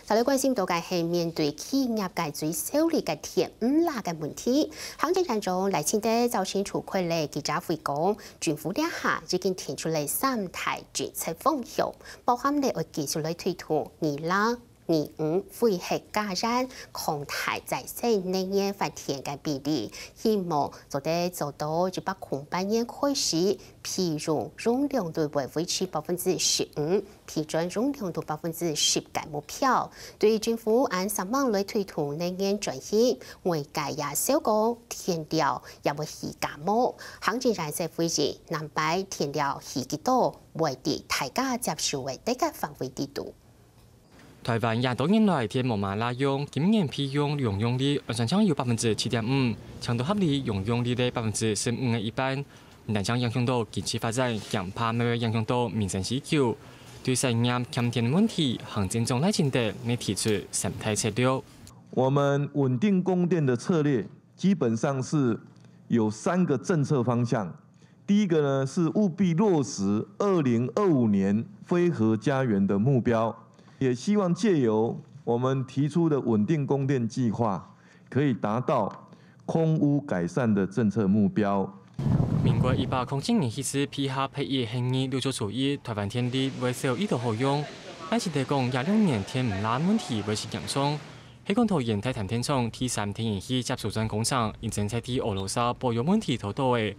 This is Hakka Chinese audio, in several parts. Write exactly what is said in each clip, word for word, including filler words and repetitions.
再來關心到个係面對企業界最受力个電毋罅个問題，行政院長賴清德朝晨出席了記者會講，政府這下已經定出了三大政策方向，包含了愛繼續來推動二罅、二五非核家園，擴大再生能源發電个比例，希望做得做到一百空八年開始，備用容量率會維持百分之十五， 批准容量度百分之十个目標。對於政府恁煞猛來推動能源轉型，外界也笑講電料也會起價無。行政院就回應，南北電料起幾多，會在大家接受个底價範圍底肚。台灣這多年來電無麼罅用，今年備用容量率按算正有百分之七點五，強度合理容量率个百分之十五个一半。 毋單淨影響到經濟發展，驚怕乜會影響到民生需求。對產業欠電問題，行政長賴清德也提出三大策略。我們穩定供電的策略基本上是有三個政策方向。第一個呢，是務必落實二零二五年非核家園的目標，也希望藉由我們提出的穩定供電計劃， 可以達到空污改善的政策目標。民國一百空七年起始配合核一核二陸續除役，台灣電力會少已多好用。賴清德講，這兩年電毋罅問題會盡嚴重。係講桃園大潭電廠第三天然氣接收站工程，因為在地俄羅斯保有問題拖到个，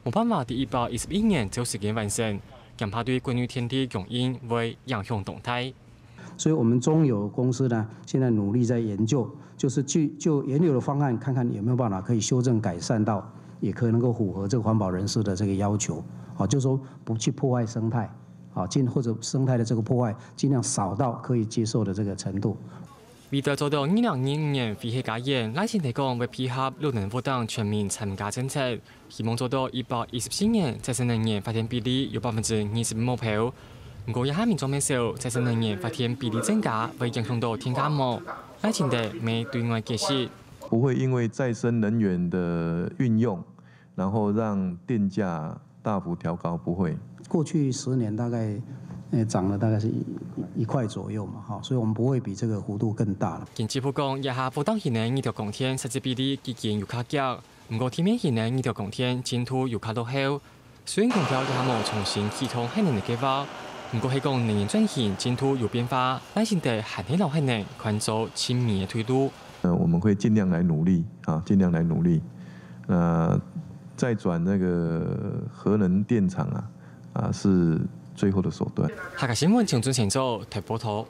無辦法在一百一十一年照時間完成，驚怕對國內電力供應會影響重大。 所以我們中油公司呢，現在努力在研究，就是去就原有的方案看看有沒有辦法可以修正改善到，也可以能夠符合這個環保人士的這個要求，啊，就是說不去破壞生態，啊，盡或者生態的這個破壞盡量少到可以接受的這個程度。為著做到二零二五年非核家園，賴清德講會配合綠能屋等全民參加政策， 希望做到一百一十四年再生能源發電比例有百分之二十目標。毋過這下民眾乜愁，再生能源發電比例增加會影響到電價無？賴清德乜對外解釋，不會因為再生能源的運用，然後讓電價大幅調高，不會。過去十年大概，呃，漲了大概是一一塊左右嘛，哈，所以我們不會比這個幅度更大了。經濟部講，這下不當核能二度供電設置比例已經有較低， 毋過地面核能二度供電進度有較落後。雖然強調這下無重新啟動核能个計畫，毋過係講能源轉型進度有變化，賴清德還係摎核能看做盡尾个退路。呃，我們會盡量來努力啊，盡量來努力。那再轉那個核能電廠啊，啊是最後的手段。客家新聞陳俊成做台報導。